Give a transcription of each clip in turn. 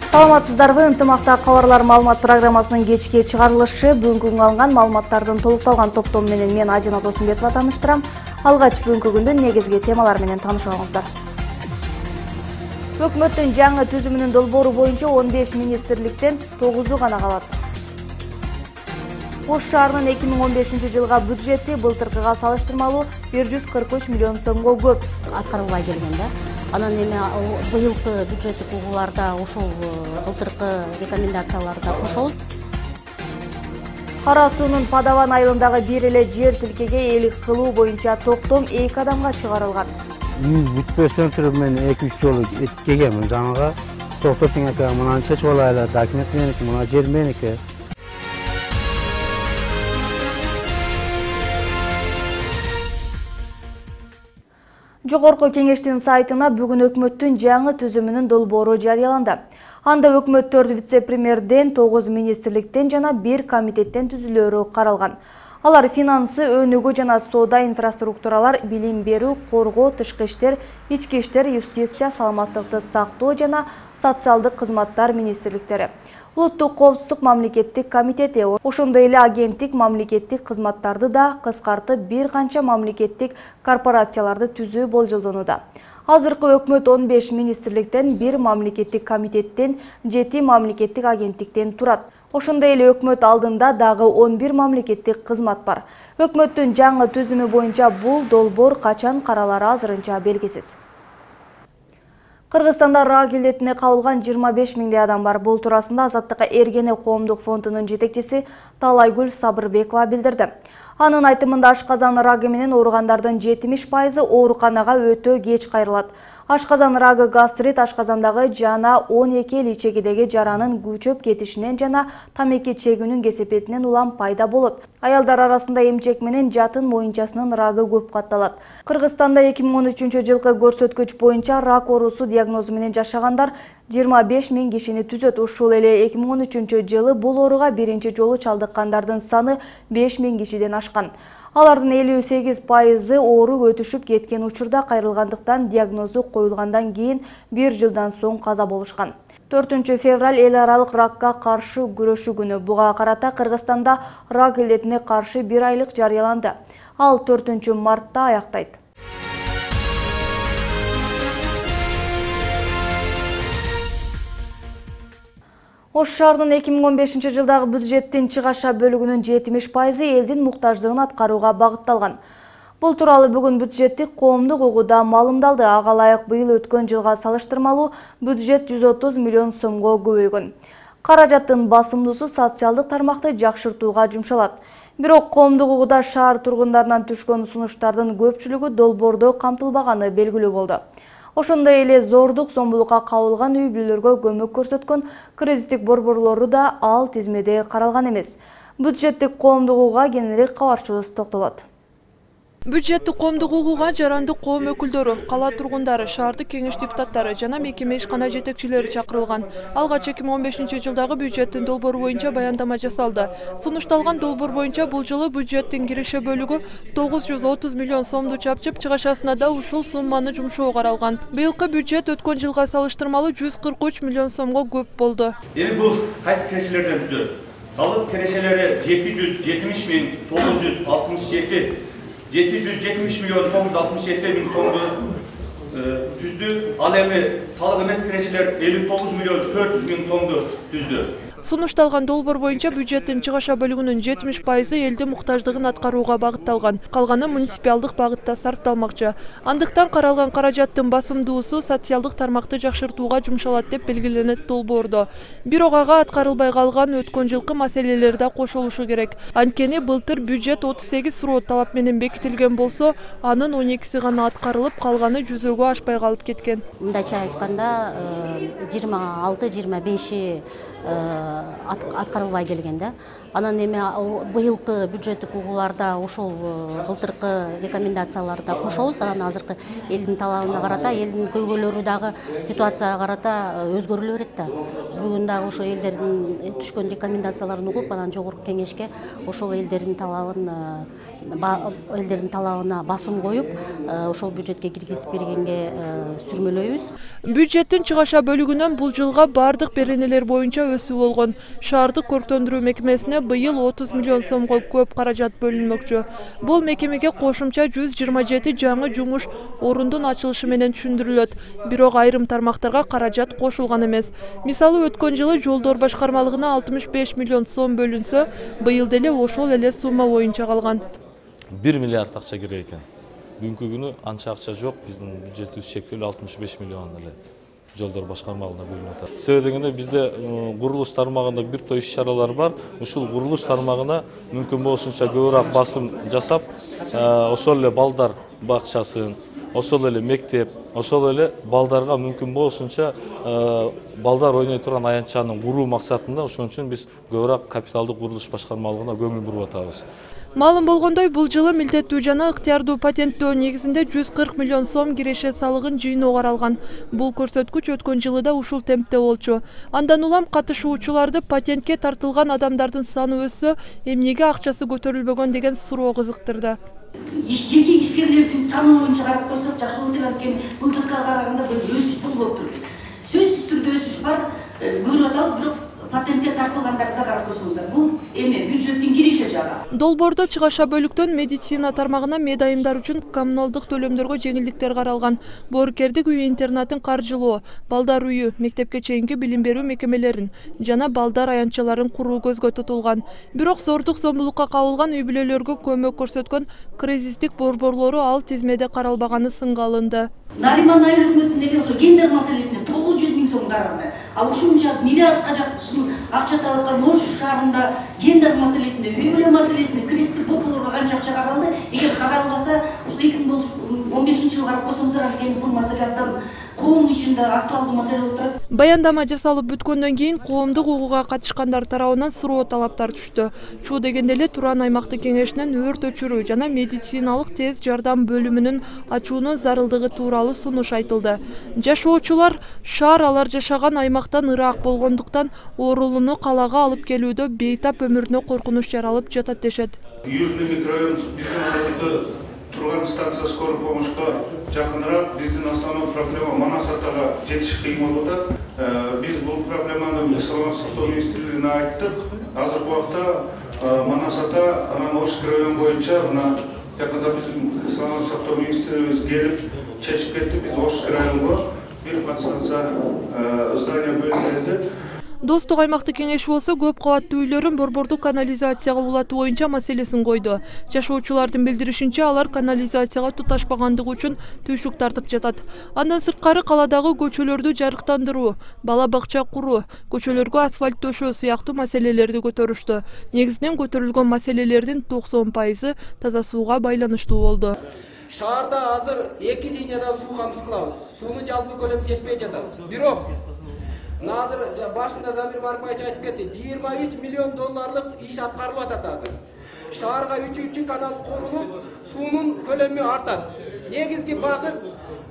Саламатсыздарбы? Ынтымакта кабарлар маалымат программасынын кечки чыгарылышы бүгүнкү алынган маалыматтардын толукталган топтому менен мен Ажина Досумбетова тааныштырам. Алгач бүгүнкү күндүн негизги темалары менен таанышыңыздар. Өкмөттүн жаңы түзүмүнүн долбоору боюнча 15 министрликтен 9-у гана калат. Ош шаарынын 2015 жылга бюджети былтыркыга салыштырмалуу 143 миллион сомго көп аткарылбай келген да. Анан эми быйылкы бюджеттик угууларда ошол былтыркы рекомендацияларды кошобуз. Кара суунун Падаван айылындагы бир эле жер тилкеге ээлик кылуу боюнча токтом 2 адамга чыгарылган. Үй бүтпөстөн туруп мен 2-3 жолу келгенмин жаңага. Токтотуң ака мынаны чечип алайлы, документ меники, мына жер меники. Жогорку кеңештин сайтына бүгүн өкмөттүн жаңы түзүмүнүн долбоору жарыяланды. Анда өкмөт 4 вице-премьерден, 9 министрликтен жана 1 комитеттен түзүлөөрү каралган. Алар финансы, өнүгүү жана соода, инфраструктуралар, билим берүү, коргоо, тышкы иштер, ички иштер, юстиция, саламаттыкты сактоо жана социалдык кызматтар министрликтери. Улуттук коопсуздук мамлекеттик комитети, ошондой эле агенттик мамлекеттик кызматтарды да кыскартып бир канча мамлекеттик корпорацияларды түзүү болжолдонууда. Азыркы өкмөт 15 министрликтен, 1 мамлекеттик комитеттен, 7 мамлекеттик агенттиктен турат. Ошондой эле өкмөт алдында дагы 11 мамлекеттик кызмат бар. Өкмөттүн жаңы түзүмү боюнча бул долбоор качан каралары азырынча белгисиз. Кыргызстанда рак илдетине кабылган 25 миңдей адам бар. Бул туурасында Азаттыкка Эргене коомдук фондунун жетекчиси Талайгүл Сабырбекова билдирди. Анын айтымында ашказан рагы менен ооругандардын 70% ооруканага өтө кеч кайрылат. Ашказан рагы гастрит ашказандагы жана 12 эл ичегидеги жаранын күчөп кетишинен жана тамеки чегүүнүн кесепетинен улам пайда болот. Аялдар арасында эмчек менен жатын моюнчасынын рагы көп катталат. Кыргызстанда 2013 жылкы көрсөткүч боюнча рак оорусу диагнозу менен жашагандар 25 миң кишини түзөт. Ушул эле 2013 жылы бул ооруга биринчи жолу чалдыккандардын саны 5 миң кишиден ашкан. Алардын 58% оору өтүшүп кеткен учурда кайрылгандыктан диагнозу коюлгандан кийин 1 жылдан соң каза болушкан. 4 февраль эл аралык ракка каршы күрөшүү күнү. Буга карата Кыргызстанда рак илдетине каршы 1 айлык жарыяланды. Ал 4 мартта аяктайт. Ош шаарынын 2015 жылдагы бюджеттин чыгаша бөлүгүнүн 70% элдин муктаждыгын аткарууга багытталган. Бул тууралуу бүгүн бюджеттик коомдук угууда маалымдалды. Ага ылайык быйыл өткөн жылга салыштырмалуу бюджет 130 миллион сомго көбөйгөн. Каражаттын басымдуусу социалдык тармакты жакшыртууга жумшалат. Бирок коомдук угууда шаар тургундарынан түшкөн сунуштардын көпчүлүгү долбоордо камтылбаганы белгилүү болду. Ошондой эле зордук зомбулукка кабылган үй бүлөлөргө көмөк көрсөткөн кризистик борборлору да ал тизмеде каралган эмес. Бюджеттик коомдук угууга кененирээк кабарчыбыз токтолот. Бюджеттик коомдук угууга жарандык коом өкүлдөрү, кала тургундары, шаардык кеңеш депутаттары жана мекеме ишкана жетекчилери чакырылган. Алгач 2015 жылдагы бюджеттин долбоору боюнча баяндама жасалды. Сунушталган долбоор боюнча бул жылы бюджеттин киреше бөлүгү 930 миллион сомду чапчып, чыгашасына да ушул сумманы жумшоо каралган. Быйылкы бюджет өткөн жылга салыштырмалуу 143 миллион сомго көп болду. Эми бул кайсы кирешелерден түзөт? Салык кирешелери 770 миң 967 770 миллион 967 миң сомду түздү. Ал эми салык эмес кирешелер 59 миллион 400 миң сомду түздү. Сунушталган долбоор боюнча бюджеттин чыгаша бөлүгүнүн 70% элдин муктаждыгын аткарууга багытталган. Калганы муниципалдык багытта сарпталмакчы. Андыктан каралган каражаттын басымдуусу социалдык тармакты жакшыртууга жумшалат деп белгиленет долбоордо. Бирок ага аткарылбай калган өткөн жылкы маселелер да кошулушу керек. Анткени былтыр бюджет 38 суроо талап менен бекитилген болсо, анын 12си гана аткарылып, калганы жүзөгө ашпай калып кеткен. Мындайча айтканда 26-25 аткарылбай келген да. Анан эми быйылкы бюджеттик угууларда ошол былтыркы рекомендацияларды кошобуз. Анан азыркы элдин талабына карата, элдин көйгөйлөрү дагы ситуацияга карата өзгөрүлө берет да. Бүгүн дагы ошо элдердин түшкөн рекомендацияларын угуп, анан жогорку кеңешке ошол элдердин талабына басым коюп, ошол бюджетке киргизип бергенге сүрмөлөйбүз. Бюджеттин чыгаша бөлүгүнөн бул жылга бардык беренелер боюнча өсүү болгон. Шаардык көрктөндүрүү мекемесине быйыл 30 миллион сомго көп каражат бөлүнмөкчү. Бул мекемеге кошумча 127 жаңы жумуш орундун ачылышы менен түшүндүрүлөт. Бирок айрым тармактарга каражат кошулган эмес. Мисалы, өткөн жылы жолдор башкармалыгына 65 миллион сом бөлүнсө, быйыл деле ошол эле сумма боюнча калган. 1 миллиард акча керек экен. Бүгүнкү күнү анча акча жок. Биздин бюджетибиз чектелүү 65 миллион эле жолдор башкармалыгына бөлүнүп атат. Себеби дегенде бизде курулуш тармагында бир топ иш-чаралар бар. Ушул курулуш тармагына мүмкүн болушунча көбүрөөк басым жасап, ошол эле балдар бакчасын, ошол эле мектеп, ошол эле балдарга мүмкүн болушунча балдар ойной турган аянтчаны куруу максатында ошон үчүн биз көбүрөөк капиталдык курулуш башкармалыгына көңүл буруп атабыз. Маалым болгондой, бул жылы милдеттүү жана ыктыярдуу патенттөө негизинде 140 миллион сом киреше салыгын жыйноо каралган. Бул көрсөткүч өткөн жылы да ушул темпте болчу. Андан улам катышуучуларды патентке тартылган адамдардын саны өссө, эмнеге акчасы көтөрүлбөгөн деген суроо кызыктырды. Жеке ишкерлердин саны боюнча карап койсок, жакшы болот экен. Былтыркыга караганда бир өсүш болуп туруп. Сөзсүз түрдө өсүш бар, көрүп атабыз, бирок патентке тартылгандарды да карап койсоңуздар, бул эми бюджеттин киреше жагы. Долбоордо чыгаша бөлүктөн медицина тармагына медайымдар үчүн коммуналдык төлөмдөргө жеңилдиктер каралган. Боорукердик үй интернатын каржылоо, балдар үйү, мектепке чейинки билим берүү мекемелерин жана балдар аянтчаларын куруу көзгө тутулган. Бирок зордук зомбулукка кабылган үй бүлөлөргө көмөк көрсөткөн кризистик борборлору ал тизмеде каралбаганы сынга алынды. Нариман айыл өкмөтүнүн ошо гендер маселесине 900 миң сом каралды. А ушунча миллиардка жакын акча таап аткан Ош шаарында гендер маселесине, үй бүлө маселесине, кризистик борборлорго канча акча каралды? Эгер каралбаса, ушул 2015 жылы карап койсоңуздар, анткени бул маселе абдан коом ичинде актуалдуу маселе болуп турат. Баяндама жасалып бүткөндөн кийин коомдук угууга катышкандар тарабынан суроо талаптар түштү. Чуу дегенде эле Туран аймактык кеңешинен өрт өчүрүү жана медициналык тез жардам бөлүмүнүн ачуунун зарылдыгы тууралуу сунуш айтылды. Жашоочулар шаар алар жашаган аймактан ыраак болгондуктан оорулууну калаага алып келүүдө бейтап өмүрүнө коркунуч жаралып жатат дешет. Южный микрорайон биздин арабызда турган станция скорой помощька жакыныраак. Биздин основной проблема Манас-Атага жетиш кыйын болуп атат. Биз бул проблеманы саламаттык сактоо министрлигине айттык. Азыркы убакта Манас-Ата анан Ошский район боюнча мына жакында биздин саламаттык сактоо министрлигибиз келип чечип кетти. Биз Ошский районго бир подстанция здание бөлүнүп. Достук аймактык кеңеши болсо көп кабаттуу үйлөрүн борбордук канализацияга улатуу боюнча маселесин койду. Жашоочулардын билдиришинче, алар канализацияга туташпагандыгы үчүн түйшүк тартып жатат. Андан сырткары каладагы көчөлөрдү жарыктандыруу, бала бакча куруу, көчөлөргө асфальт төшөө сыяктуу маселелерди көтөрүштү. Негизинен көтөрүлгөн маселелердин 90% таза сууга байланыштуу болду. Шаарда азыр 2 линиядан суу камсыз кылабыз. Суунун жалпы көлөмү жетпей жатат. Бирок азыр башында Замир Барпаевич айтып кетти, 23 миллион долларлык иш аткарылып атат азыр. Шаарга 3-чү канал курулуп, суунун көлөмү артат. Негизги багыт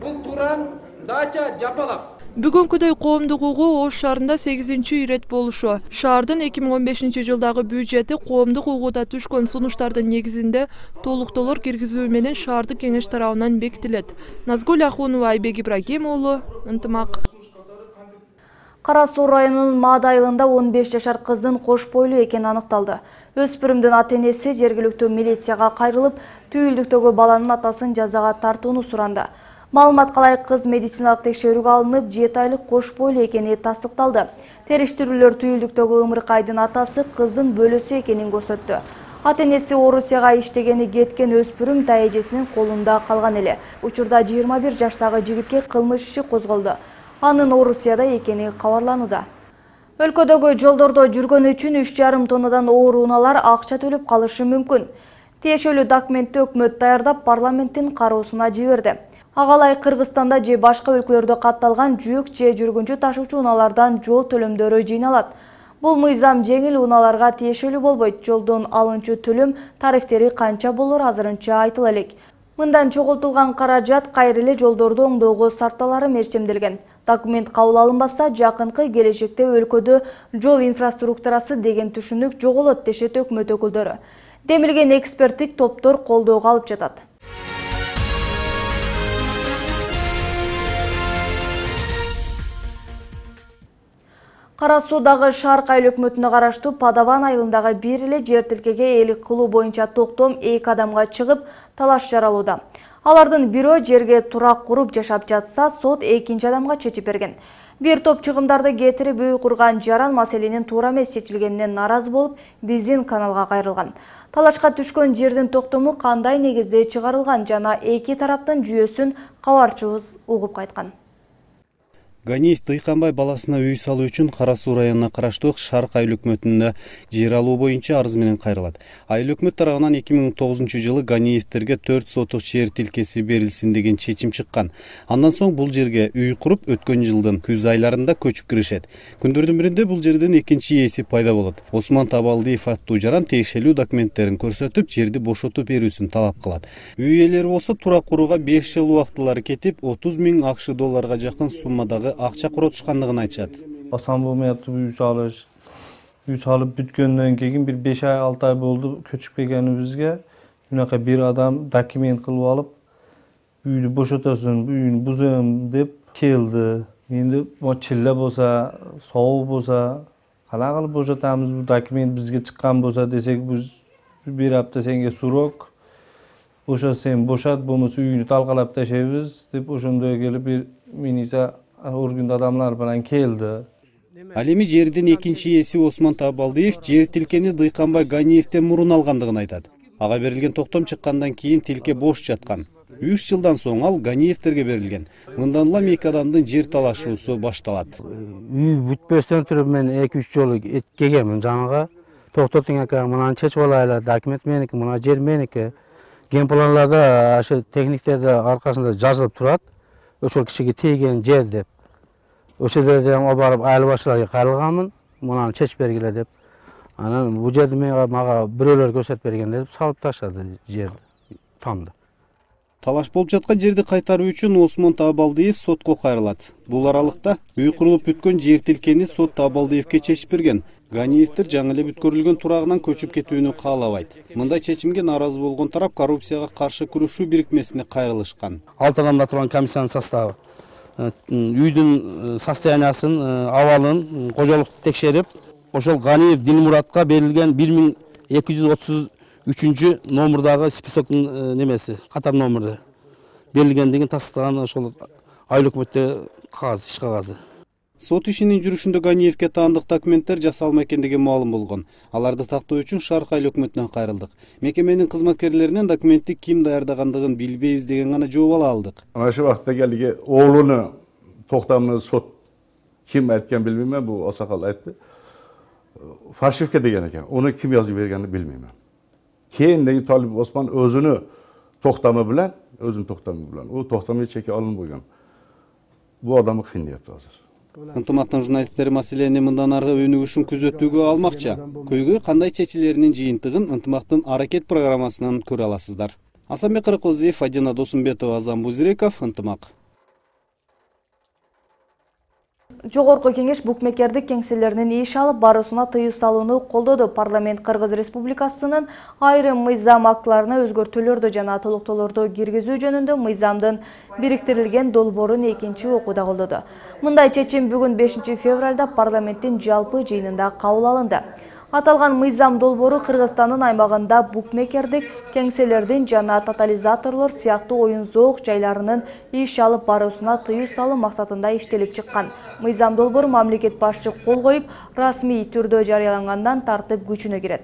бул Туран, Дача, Жапалак. Бүгүнкүдөй коомдук угуу Ош шаарында 8-чи ирет болушу. Шаардын 2015 жылдагы бюджети коомдук угууда түшкөн сунуштардын негизинде толуктоолор киргизүү менен шаардык кеңеш тарабынан бекитилет. Назгүл Ахунова, Айбек Ибрагим уулу, Ынтымак. Кара Суу районунун Маада айылында 15 жашар кыздын кош бойлуу экени аныкталды. Өспүрүмдүн ата-энеси жергиликтүү милицияга кайрылып, түйүлдүктөгү баланын атасын жазага тартууну суранды. Маалыматка ылайык, кыз медициналык текшерүүгө алынып, 7 айлык кош бойлуу экени тастыкталды. Териштирүүлөр түйүлдүктөгү ымыркайдын атасы кыздын бөлөсү экенин көрсөттү. Ата-энеси Орусияга иштегени кеткен өспүрүм тайэжесинин колунда калган эле. Учурда 21 жаштагы жигитке кылмыш иши козголду. Анын Орусияда экени кабарланууда. Өлкөдөгү жолдордо жүргөн үчүн 3,5 тоннадан оор унаалар акча төлөп калышы мүмкүн. Тиешелүү документти өкмөт даярдап парламенттин кароосуна жиберди. Агалай Кыргызстанда же башка өлкөлөрдө катталган жүк же жүргүнчү ташуучу унаалардан жол төлөмдөрү жыйналат. Бул мыйзам жеңил унааларга тиешелүү болбойт. Жолдон алынчу төлөм тарифтери канча болор азырынча айтыла элек. Мындан чогултулган каражат кайра эле жолдорду оңдоого сарпталары мерчемделген. Документ кабыл алынбаса, жакынкы келечекте өлкөдө жол инфраструктурасы деген түшүнүк жоголот дешет өкмөт өкүлдөрү. Демилген эксперттик топтор колдоого алып жатат. Кара Суудагы Шарк айыл өкмөтүнө караштуу Падаван айылындагы бир эле жер тилкеге ээлик кылуу боюнча токтом 2 адамга чыгып, талаш жаралууда. Алардын бирөө жерге турак куруп жашап жатса, сот 2 адамга чечип берген. Бир топ чыгымдарды кетирип үй курган жаран маселенин туура эмес чечилгенине наразы болуп, биздин каналга кайрылган. Талашка түшкөн жердин токтому кандай негизде чыгарылган жана эки тараптын жүйөсүн кабарчыбыз угуп кайткан. Ганиев Дыйканбай баласына үй салуу үчүн Кара Суу районуна караштуу Шарк айыл өкмөтүнө жер алуу боюнча арыз менен кайрылат. Айыл өкмөт тарабынан 2009-жылы Ганиевтерге 4 сотук жер тилкеси берилсин деген чечим чыккан. Андан соң бул жерге үй куруп, өткөн жылдын күз айларында көчүп киришет. Күндөрдүн биринде бул жерден экинчи ээси пайда болот. Осмон Табалдиев аттуу жаран тиешелүү документтерин көрсөтүп, жерди бошотуп берүүсүн талап кылат. Үй ээлери болсо турак курууга 5 жыл убактылары кетип, 30 000 АКШ долларга жакын суммадагы акча коротушкандыгын айтышат. Асан болмаятып үй салып бүткөндөн кийин бир 5 ай 6 ай болду көчүп келгенибизге мынакай бир адам документ кылып алып үйдү бошотосуң, үйүн бузом деп келди. Эndi чилле болсо, сообу болсо, кандай кылып бошотабыз, бул документ бизге чыккан болсо десек, биз бир апта сенге сурок, ошо сен бошот, болбосо үйүнү талкалап ташайбыз деп ошондой келип бир милиция орган адамдар менен келди. Ал эми жердин экинчи ээси Осмон Табалдиев жер тилкени Дыйканбай Ганиевден мурун алгандыгын айтат. Ага берилген токтом чыккандан кийин тилке бош жаткан. 3 жылдан соң ал Ганиевтерге берилген. Мындан улам 2 адамдын жер талашуусу башталат. Үй бүтпөстөн туруп мен 2-3 жолу келгенмин жанага. Токтотуң ака, мынаны чечип алайлы, документ меники, мына жер меники. Генпланларда, ашы техниктерде аркасында жазылып турат. Ошол кишиге тийген жер деп. Ошол жерден барып айыл башчыларга кайрылганмын, мынаны чечип бергиле деп. Анан бул жерди мага бирөөлөр көрсөтүп берген деп салып таштады жерди, тамды. Талаш болуп жаткан жерди кайтаруу үчүн Осмон Табалдиев сотко кайрылат. Бул аралыкта үй курулуп бүткөн жер тилкени сот Табалдиевке чечип берген. Ганиевтер жаңы эле бүткөрүлгөн турагынан көчүп кетүүнү каалабайт. Мындай чечимге нааразы болгон тарап коррупцияга каршы күрөшүү бирикмесине кайрылышкан. 6 адамда турган комиссиянын составы үйдүн состояниясын, абалын, кожолукту текшерип, ошол Ганиев Дилмуратка берилген 1233 номурдагы списоктун немеси, катар номуру берилгендигин тастыган ошол айыл өкмөттө кагаз, иш кагазы. Сот ишинин жүрүшүндө Ганиевке таандык документтер жасалма экендиги маалым болгон. Аларды тактоо үчүн Шарк айыл өкмөтүнөн кайрылдык. Мекеменин кызматкерлеринен документти ким даярдагандыгын билбейбиз деген гана жооп ала алдык. Ana şu vaqtda geldi oğlunu toxtamını sot kim aytgan bilmeyman, bu Asakal aytdı. Faşifke degan ekan. Onu kim yazıp berganini bilmeyman. Keyindagi Talib Osman özünü toxtamı bilen, o toxtamı çeki alın koygan. Bu adamı kıynayattı hazır. Ынтымактын журналисттери маселени мындан аркы өнүгүшүн күзөтүүгө алмакчы. Көйгөй кандай чечилеринин жыйынтыгын ынтымактын аракет программасынан көрө аласыздар. Асанбек Кырыккозиев, Фадина Досумбетова, Азам Бузиреков, Ынтымак. Жогорку кеңеш букмекердик кеңселеринин иш алып баруусуна тыюу салууну колдоду. Парламент Кыргыз Республикасынын айрым мыйзам актыларына өзгөртүүлөрдү жана толуктоолорду киргизүү жөнүндө мыйзамдын бириктирилген долбоорун экинчи окууда колдоду. Мындай чечим бүгүн 5 февралда парламенттин жалпы жыйынында кабыл алынды. Аталган мыйзам долбоору Кыргызстандын аймагында букмекердик кеңселердин жана тотализаторлор сыяктуу оюн-зоок жайларынын иш алып баруусуна тыюу салуу максатында иштелип чыккан. Мыйзам долбоору мамлекет башчы кол коюп, расмий түрдө жарыялангандан тартып күчүнө кирет.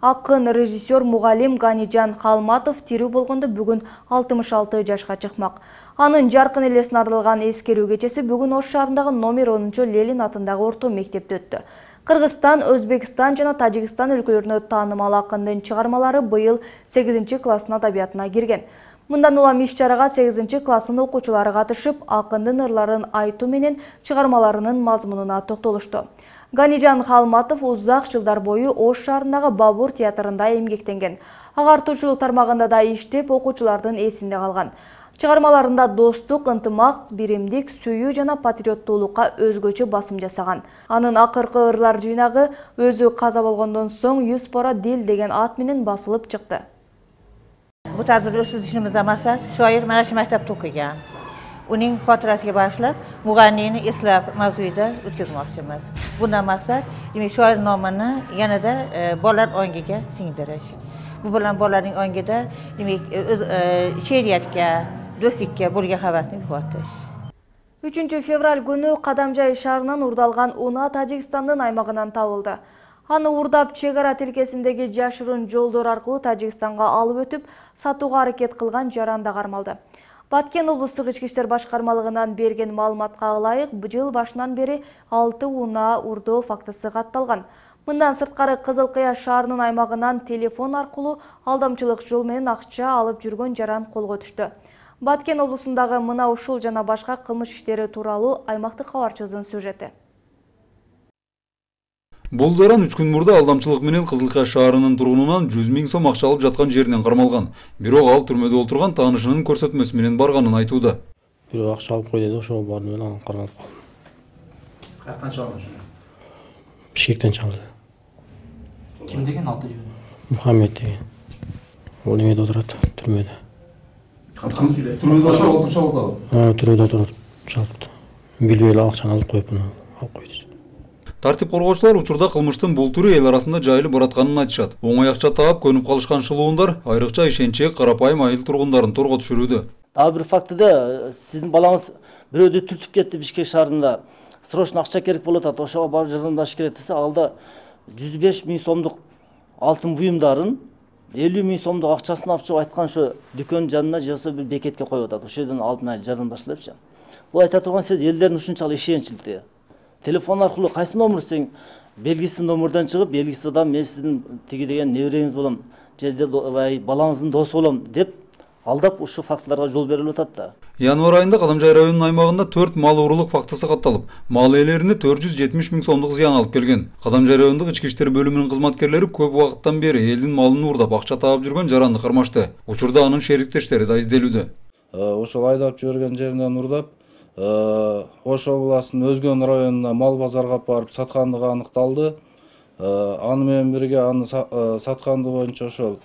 Акын режиссер мугалим Ганижан Халматов тирүү болгондо бүгүн 66 жашка чыкмак. Анын жаркын элесине арналган эскерүү кечеси бүгүн Ош шаарындагы номер 10 Ленин атындагы орто мектепте өттү. Кыргызстан, Өзбекстан жана Тажикстан өлкөлөрүнө таанымал акындын чыгармалары быйыл 8 класстын адабиятына кирген. Мындан улам иш-чарага 8 класстын окуучулары катышып, акындын ырларын айтуу менен чыгармаларынын мазмунуна токтолушту. Ганижан Халматов узак жылдар бою Ош шаарындагы Бабур театрында эмгектенген. Агартуучулук тармагында да иштеп, окуучулардын эсинде калган. Чыгармаларында достук, ынтымак, биримдик, сүйүү жана патриоттуулукка өзгөчө басым жасаган. Анын акыркы ырлар жыйнагы өзү каза болгондон соң 100 пора дил деген ат менен басылып чыкты. Bu tadbir o'tkazishimizda maqsad shoir mana shu maktabda o'qigan. Uning xotirasiga bag'ishlab, mug'anniyni eslab mavzuida o'tkazmoqchimiz. Bundan maqsad demak shoir nomini yanada bolalar ongiga singdirish. Bu bilan bolalarning ongida demak she'riyatga, do'stlikka bo'lgan havasni uyg'otish. 3 fevral күнү Кадамжай шаарынан урдалган унаа Тажикстандын аймагынан табылды. Аны урдап чегара тилкесиндеги жашырын жолдор аркылуу Тажикстанга алып өтүп, сатууга аракет кылган жаранда кармалды. Баткен облустук ички иштер башкармалыгынан берген маалыматка ылайык, жыл башынан бери 6 унаа урдоо фактысы катталган. Мындан сырткары Кызылкыя шаарынын аймагынан телефон аркылуу алдамчылык жол менен акча алып жүргөн жаран колго түштү. Баткен облусундагы мына ушул жана башка кылмыш иштери тууралуу аймактык кабарчыбыздын сюжети. Бул жаран 3 күн мурда алдамчылык менен Кызылкыя шаарынын тургунунан 100 000 сом акча алып жаткан жеринен кармалган. Бирок ал түрмөдө отурган таанышынын көрсөтмөсү менен барганын айтууда. Бирок акча алып кой деди, ошого бардым менен кармалып калдым. Каяктан чалган ошо? Бишкектен чалды. Ким деген аты жөнү? Мухаммед деген. Ол немеде отурат, түрмөдө. Кантип сүйлөйт? Түрмөдө ошол чалды. Түрмөдө отуруп чалды. Билбей эле акчаны алып коюп, алып койду. Тартип коргоочулар учурда кылмыштын бул түрү эл арасында жайылып баратканын айтышат. Оңой акча таап көнүп калышкан шылуундар айрыкча ишенчек карапайым айыл тургундарын торго түшүрүүдө. Дагы бир фактыда сиздин балаңыз бирөөдү түртүп кетти Бишкек шаарында. Срочно акча керек болуп атат, ошого барып жардамдаш керек десе, алда 105 000 сомдук алтын буюмдарын 50 000 сомдук акчасын алып чыгып айткан ошо дүкөн жанына же болбосо бир бекетке коюп атат. Ошол жерден алып мына жардамдашлапчы. Бул айта турган сөз элдердин ушунчалык ишеничилти. Телефон аркылуу кайсы номер десең, белгисиз номерден чыгып, белгисиз адам мен сиздин тиги деген небереңиз болом, же балаңыздын досу болом деп алдап ушу фактыларга жол берилип атат да. Январь айында Кадамжай районунун аймагында 4 мал уурулук фактысы катталып, мал ээлерине 470 000 сомдук зыян алып келген. Кадамжай райондук ички иштер бөлүмүнүн кызматкерлери көп убакыттан бери элдин малын уурдап акча таап жүргөн жаранды кармашты. Учурда анын шериктештери да изделүүдө. Ошол айдап жиберген жеринен уурдап Ош областынын Өзгөн районуна мал базарга барып саткандыгы аныкталды. Аны менен бирге аны сатканды боюнча ошол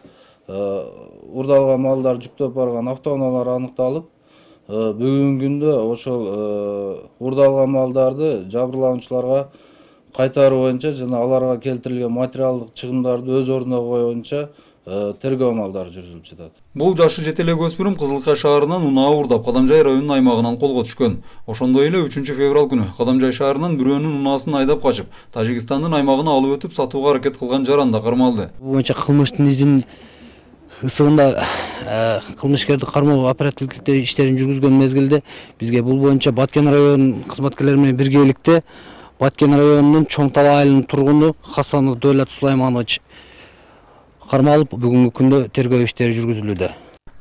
урдалган малдар жүктөп барган автоунаалар аныкталып, бүгүнкү күндө ошол урдалган малдарды жабырлануучуларга кайтаруу боюнча жана аларга келтирилген материалдык чыгымдарды өз ордуна коюу боюнча тергөө амалдары жүргүзүлүп жатат. Бул жашы жете элек өспүрүм Кызылкыя шаарынан унаа уурдап Кадамжай районунун аймагынан колго түшкөн. Ошондой эле 3 февраль күнү Кадамжай шаарынан бирөөнүн унаасын айдап качып, Тажикстандын аймагына алып өтүп сатууга аракет кылган жаранда кармалды. Бул боюнча кылмыштын изин ысыгында кылмышкерди кармоо оперативдик иштерин жүргүзгөн мезгилде бизге бул боюнча Баткен районунун кызматкерлери менен биргеликте Баткен районунун Чоң Талаа айылынын тургуну Хасанов Дөөлөт Сулайманович кармалып, бүгүнкү күндө тергөө иштери жүргүзүлүүдө.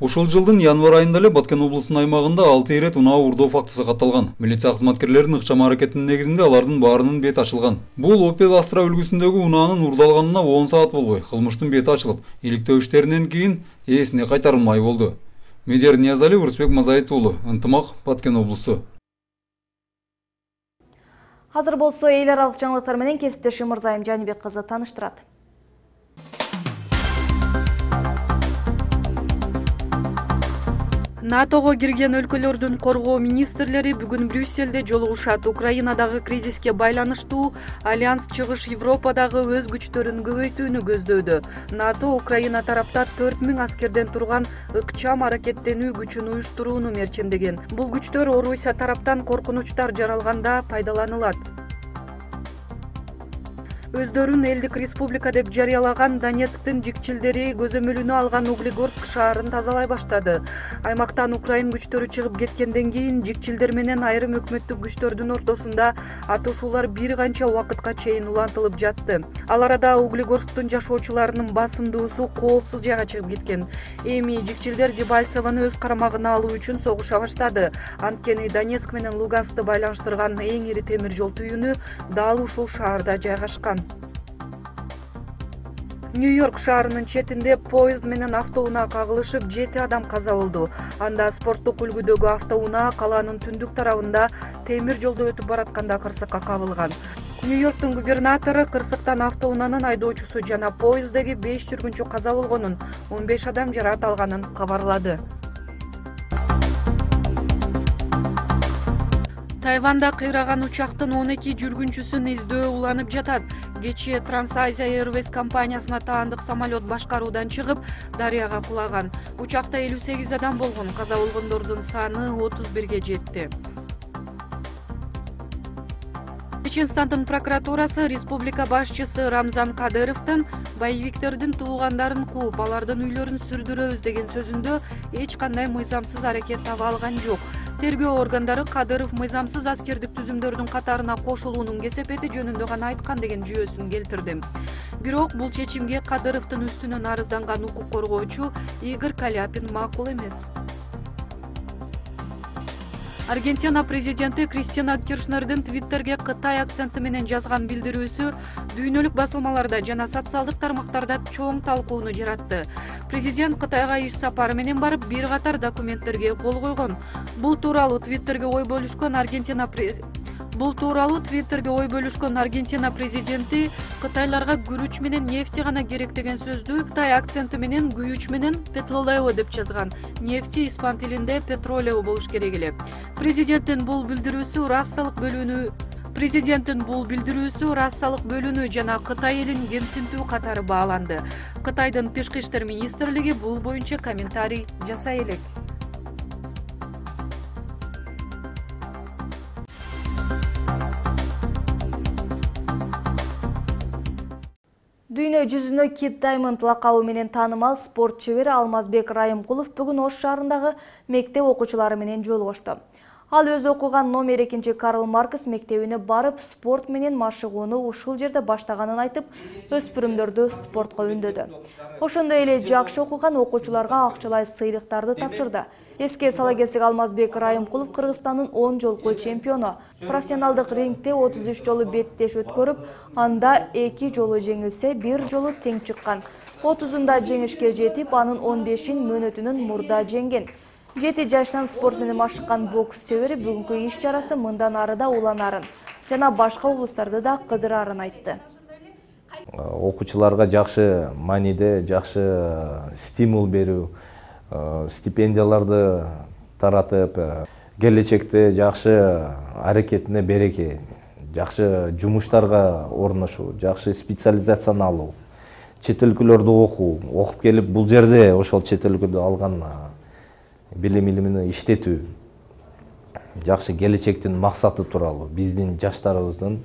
Ушул жылдын январь айында эле Баткен облусунун аймагында 6 ирет унаа уурдоо фактысы катталган. Милиция кызматкерлеринин ыкчам аракетинин негизинде алардын баарынын бети ачылган. Бул Opel Astra үлгүсүндөгү унаанын уурдалганына 10 саат болбой кылмыштын бети ачылып, иликтөө иштеринен кийин ээсине кайтарылмай болду. Медер Ниязалиев, Урусбек Мазаит уулу, Ынтымак, Баткен облусу. Азыр болсо эл аралык жаңылыктар менен кесиптешим Мырзайым Жанибек кызы тааныштырат. НАТОго кирген өлкөлөрдүн коргоо министрлери бүгүн Брюссельде жолугушат. Украинадагы кризиске байланыштуу Альянс Чыгыш Европадагы өз күчтөрүн көбөйтүүнү көздөдү. НАТО Украина тарапта 4000 аскерден турган ыкчам аракеттенүү күчүн уюштурууну мерчемдеген. Бул күчтөр Орусия тараптан коркунучтар жаралганда пайдаланылат. Өздөрүн элдик республика деп жарыялаган Донецктин жикчилдери көзөмөлүнө алган Углегорск шаарын тазалай баштады. Аймактан Украин күчтөрү чыгып кеткенден кийин жикчилдер менен айрым өкмөттүк күчтөрдүн ортосунда атышуулар бир канча убакытка чейин улантылып жатты. Ал арада Углегорсктун жашоочуларынын басымдуусу коопсуз жайга чыгып кеткен. Эми жикчилдер Дебальцевону өз карамагына алуу үчүн согуша баштады. Анткени Донецк менен Луганскты байланыштырган эң ири темир жол түйүнү дал ушул шаарда жайгашкан. Нью-Йорк шаарынын четинде поезд менен автоунаа кагылышып 7 адам каза болду. Анда спорттук үлгүдөгү автоунаа калаанын түндүк тарабында темир жолдо өтүп баратканда кырсыкка кабылган. Нью-Йорктун губернатору кырсыктан автоунаанын айдоочусу жана поезддеги 5 жүргүнчү каза болгонун, 15 адам жаракат алганын кабарлады. Тайванда кыйраган учактын 12 жүргүнчүсүн издөө уланып жатат. Кечээ Trans-Asia Airways компаниясына таандык самолет башкаруудан чыгып, дарыяга кулаган. Учакта 58 адам болгон, каза болгондордун саны 31ге жетти. Чеченстандын прокуратурасы республика башчысы Рамзан Кадыровдун боевиктердин туугандарын кууп, алардын үйлөрүн сүрдүрөбүз деген сөзүндө эч кандай мыйзамсыз аракет таба алган жок. Тергөө органдары Кадыров мыйзамсыз аскердик түзүмдөрдүн катарына кошулуунун кесепети жөнүндө гана айткан деген жүйөсүн келтирди. Бирок бул чечимге Кадыровдун үстүнөн арызданган укук коргоочу Игорь Каляпин макул эмес. Аргентина президенти Кристина Киршнердин Твиттерге Кытай акценти менен жазган билдирүүсү дүйнөлүк басылмаларда жана социалдык тармактарда чоң талкууну жаратты. Президент Кытайга иш сапары менен барып, бир катар документтерге кол койгон. Бул тууралуу Твиттерге ой бөлүшкөн Аргентина президенти Кытайларга күрүч менен нефти гана керек деген сөздү Кытай акценти менен күйүүч менен петролео деп жазган. Нефти испан тилинде петролео болуш керек эле. Президенттин бул билдирүүсү рассалык бөлүнүү жана Кытай элин кемсинтүү катары бааланды. Кытайдын тышкы иштер министрлиги бул боюнча комментарий жасай элек. Дүйнө жүзүнө Kip Diamond лакабы менен таанымал спорт чебери Алмазбек Райымкулов бүгүн Ош шаарындагы мектеп окуучулары менен жолугушту. Ал өз окуган номер 2 Карл Маркс мектебине барып, спорт менен машыгууну ушул жерде баштаганын айтып, өспүрүмдөрдү спортко үндөдү. Ошондой эле жакшы окуган окуучуларга акчалай сыйлыктарды тапшырды. Эске сала кетсек, Алмазбек Райымкулов Кыргызстандын 10 жолку чемпиону. Профессионалдык рингте 33 жолу беттеш өткөрүп, анда 2 жолу жеңилсе, 1 жолу тең чыккан. 30-ында жеңишке жетип, анын 15-ин мөөнөтүнөн мурда жеңген. 7 жаштан спорт менен машыккан бокс чебери бүгүнкү иш чарасы мындан ары да уланарын жана башка облустарды да кыдырарын айтты. Окуучуларга жакшы мааниде, жакшы стимул берүү, стипендияларды таратып, келечекте жакшы аракетине береке, жакшы жумуштарга орношуу, жакшы специализацияны алуу, чет өлкөлөрдө окуп келип бул жерде ошол чет өлкөдө алган билим-илимини иштетүү, жакшы келечектин максаты тууралуу, биздин жаштарыбыздын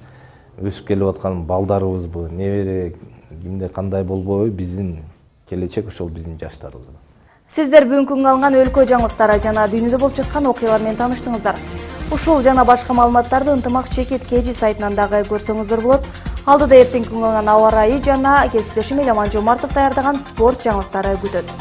өсүп келип аткан балдарыбызбы, небере кимде кандай болбойбу, биздин келечек ошол биздин жаштарыбызда. Сиздер бүгүнкү алган өлкө жаңылыктары жана дүйнөдө болуп жаткан окуялар менен тааныштыңыздар. Ушул жана башка маалыматтарды Ынтымак Чекит KG сайтынан дагы көрсөңүздөр болот. Алдыда эртеңки алган аба ырайы жана кесиптешим Эламан Жомартов даярдаган спорт жаңылыктары күтөт.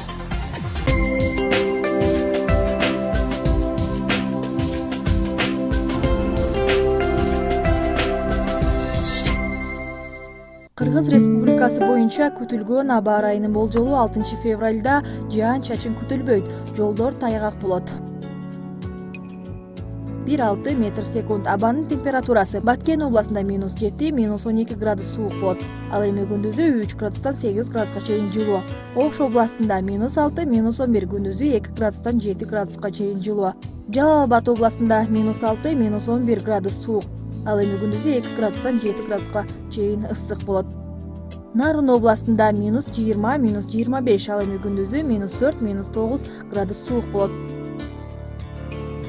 Кыргыз Республикасы боюнча күтүлгөн аба ырайынын болжолу 6 февралда жаан-чачын күтүлбөйт, жолдор тайгак болот. 1,6 метр/секунд. Абанын температурасы Баткен областында -7, -12 градус суук болот. Ал эми күндүзү 3 градустан 8 градуска чейин жылуу. Ош областында -6, -11, күндүзү 2 градустан 7 градуска чейин жылуу. Жалал Абад областында -6, -11 градус суук. Ал эми күндүзү 2 градустан 7 градуска чейин ысык болот. Нарын областында -20, -25, ал эми күндүзү -4, -9 градус суук болот.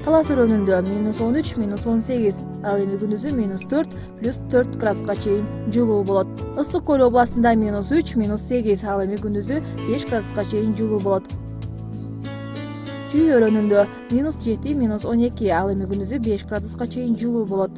Талас өрөөнүндө -13, -18, ал эми күндүзү -4, +4 градуска чейин жылуу болот. Ысык көл областында -3, -8, ал эми күндүзү 5 градуска чейин жылуу болот. Чүй өрөөнүндө -7, -12, ал эми күндүзү 5 градуска чейин жылуу болот.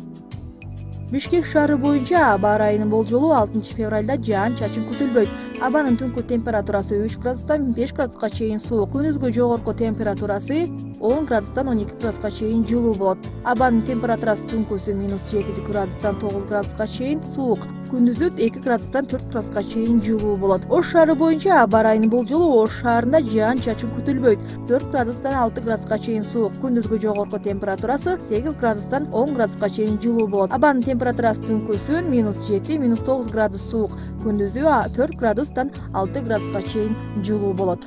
Бишкек шаары боюнча аба ырайынын болжолу 6 февралда жаан-чачын күтүлбөйт. Абанын түнкү температурасы 3 градустан 5 градуска чейин суук, күндүзгү жогорку температурасы 10 градустан 12 градуска чейин жылуу болот. Абанын температурасы түнкүсү -7 градустан 9 градуска чейин суук, күндүзү 2 градустан 4 градуска чейин жылуу болот. Ош шаары боюнча аба ырайынын болжолу Ош шаарында жаан-чачын күтүлбөйт. 4 градустан 6 градуска чейин суук, күндүзгү жогорку температурасы 8 градустан 10 градуска чейин жылуу болот. Абанын температурасы түнкүсүн -7, -9 градус суук, күндүзү 4 градустан 6 градуска чейин жылуу болот.